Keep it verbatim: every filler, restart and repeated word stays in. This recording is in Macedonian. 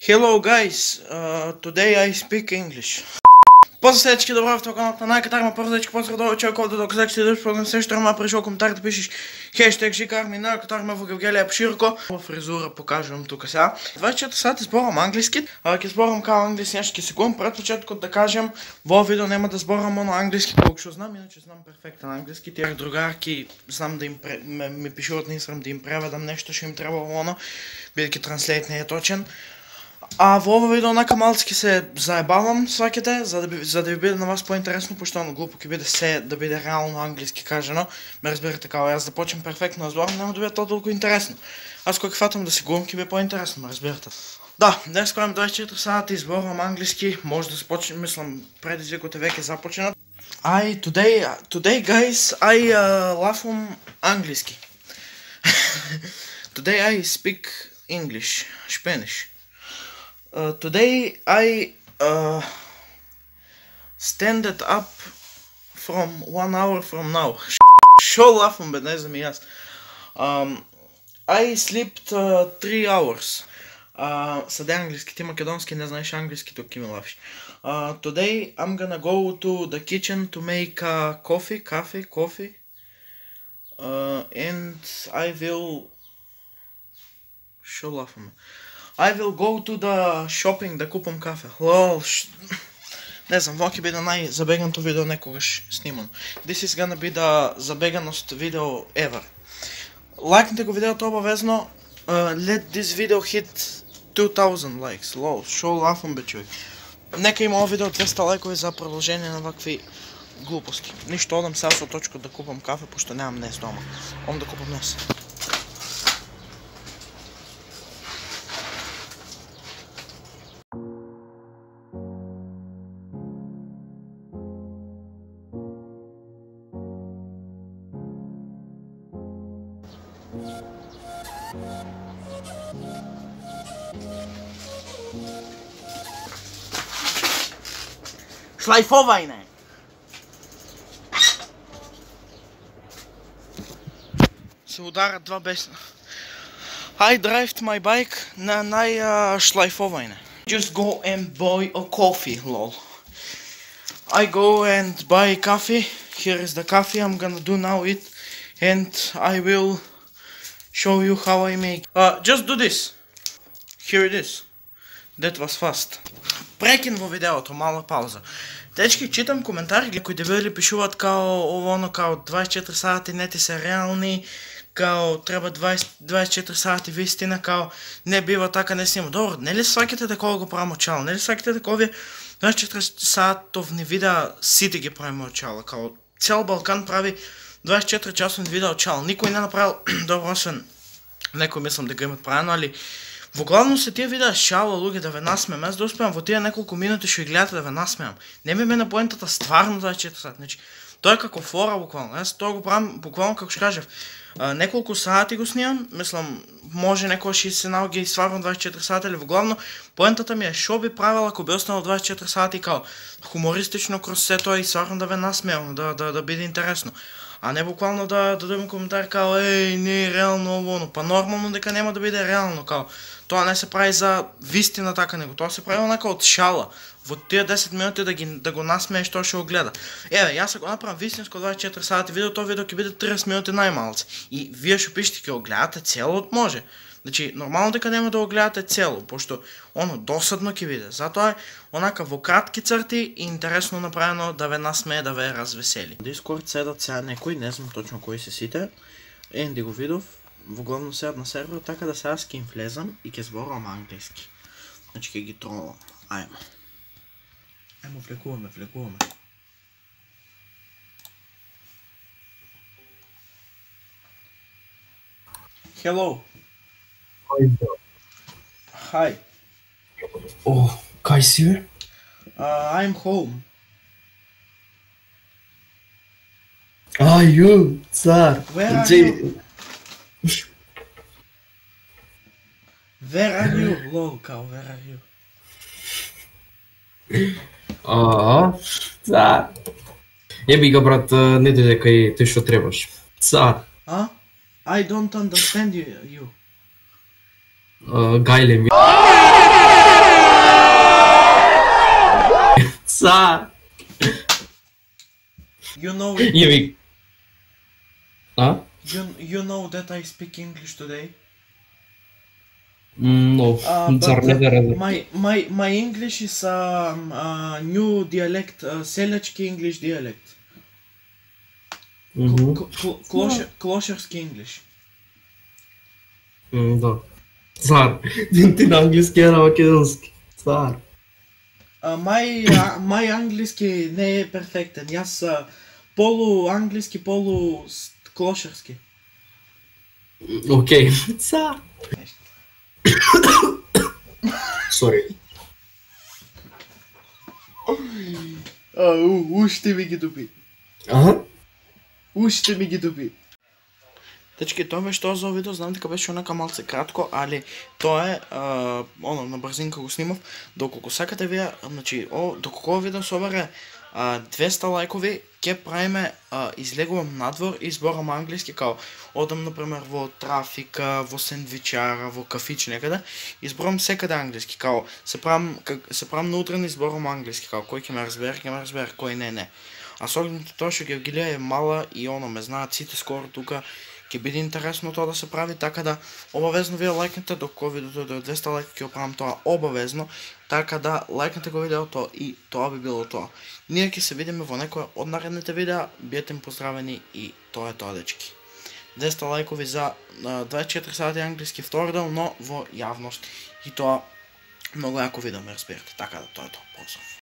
Hello guys, uh, today I speak English. Поздрав всички, добро в каналата на Катарма, поздрав поздрав до човек, който до казах си дъжд, програм също ма пришъл коментар да пишеш хештег Жикарми на Катарма в Евгелия Пширко. Фризура покажам тук сега. двайсет и четири сати зборам английски, а ке зборам као английски някакви секунд, пред почетко да кажем, во видео нема да зборам на английски, колко ще знам, иначе знам перфектен английски, тях другарки знам да им ми пишуват на Инстаграм да им преведам нещо, ще им трябва воно, бидейки транслейт не е точен. А в ова видео онака малцки се заебавам сваките, за да, за да ви биде на вас по-интересно, поштално глупо ке биде се да биде реално английски кажено. Ме разбирате као, аз да почнем перфектно да зборам, нема да биде то толкова интересно. Аз кога фатам да си губам, ке биде по-интересно, ме разбирате. Да, днес коем двайсет и четири сати изборвам английски, може да започнем, мислам, предизвикоте веќе започнат. I, today, today guys, I uh, laugh on английски. Today I speak English, Spanish. Uh, today I uh, stand up from one hour from now. Шо лафам бе, не знам и аз. Um, I slept uh, three hours. Uh, Съде английски, ти македонски не знаеш английски, тук ми лафиш. Uh, today I'm gonna go to the kitchen to make uh, coffee, coffee, coffee. Uh, and I will... Шо лафам бе? I will go to the shopping да купам кафе. Лол, ш... Не знам, това ќе биде најзабеганото видео некогаш снимано. This is gonna be the забеганост видео ever. Лайкнете го видеото обавезно. Uh, let this video hit two thousand likes. Лол, шо лафам бе човек. Нека има ова видео двеста лайкови за продължение на вакви глупости. Ништо, одам сега со точка да купам кафе, пошто нямам днес дома. Одам да купам днес. Шлайфовајне! Се ударат два бесна. I drive my bike на нај-шлайфовајне. Just go and buy a coffee, lol. I go and buy coffee. Here is the coffee I'm gonna do now it. And I will show you how I make. Uh, just do this. Here it is. That was fast. Прекин во видеото, мала пауза. Дечки, читам коментари, кои дебели пишуват као оно, као двайсет и четири сати не ти се реални, као треба двайсет и четири сати вистина, као не бива така, не снима. Добро, не ли сваките такова го правим очало? Не ли сваките такови двайсет и четири сатовни видеа сите ги правим очало? Као цел Балкан прави двайсет и четири часовни видеа очало. Никой не направил добро, освен некој мислам да го имат правено, али во главно се тие видеа шала луѓе да ве насмеам, аз да успеам во тие неколку минути што ги гледате да ве насмеам. Не ми ме на поентата стварно двайсет и четири сати, значи тоа е како фора буквално. Аз тоа го правам буквално како што кажав. А, неколку сати го снимам, мислам може некој ще се наоѓа и стварно двайсет и четири сати, али во главно поентата ми е шо би правила ако би останал двайсет и четири сати као хумористично кроз се тоа и стварно да ве насмеам, да да да биде интересно. А не буквално да дадем коментар као еј, не е реално ово, па нормално дека нема да биде реално као. Тоа не се прави за вистина така него, тоа се прави онака од шала. Во тие десет минути да ги да го насмееш тоа што го гледа. Еве, јас ако направам вистинско двайсет и четири сати видео, тоа видео ќе биде тридесет минути најмалце. И вие што пишете ќе го гледате цело, може. Значи, нормално дека нема да го гледате цело, пошто оно досадно ќе биде. Затоа е онака во кратки црти и интересно направено да ве насмее, да ве развесели. Дискорд седат сега некои, не знам точно кои се сите. Енди го видов, во главно седат на сервер, така да сега ке им влезам и ке зборувам англиски. Значи ке ги тролам. Ајмо. Ајмо, влекуваме, влекуваме. Hello. Hi. Oh, кај си бе? Uh, I'm home. Ah, you, цар. Where are you? Where are you? Lol, као, where are you? Аа, цар. Еби га брат, не дојде кај тој што требаш. Цар. А? I don't understand you. you. Uh, Gaile. Са. You know Јеби. А? you, you know that I speak English today? Но, Uh, зар but не да uh, разберам? my my my English is um, a new dialect, uh, селячки English dialect. Мгм. Cl- cl- closer- Closerski English. М, да. Цар. Ти на англиски, а на македонски. Цар. Uh, my uh, my англиски не е перфектен. Јас uh, полу англиски, полу с- клошерски. Окей. Цар. Сори. А, у, уште ми ги дуби. Аха. Уште ми ги дуби. Дечки, тоа беше тоа за овој видео, знам дека беше онака малце кратко, али тоа е, а, оно, на брзинка го снимав. Доколку сакате вие, значи, о, доколку овој видео собере а, двеста лајкови, ќе правиме, а, излегувам надвор и зборам англиски, као, одам, например, во трафика, во сендвичара, во кафич некаде, и зборам секаде англиски, као, се правам, как, се правам на утрен и зборам англиски, као, кој ќе ме разбере, ќе ме разбере, кој не, не. А со оглед на тоа што Гевгилија е мала и оно, ме знаат сите скоро тука, ќе биде интересно тоа да се прави, така да обавезно вие лајкнете, докато видеото до двеста лајка ќе оправам тоа обавезно, така да лајкнете го видеото и тоа би било тоа. Ние ќе се видиме во некоја од наредните видеа, биете им поздравени и тоа е тоа, дечки. двеста лајкови за а, дваесет и четири сати англиски втор дел, но во јавност и тоа многу јако видео, ме разберете, така да тоа е тоа. Поздрав.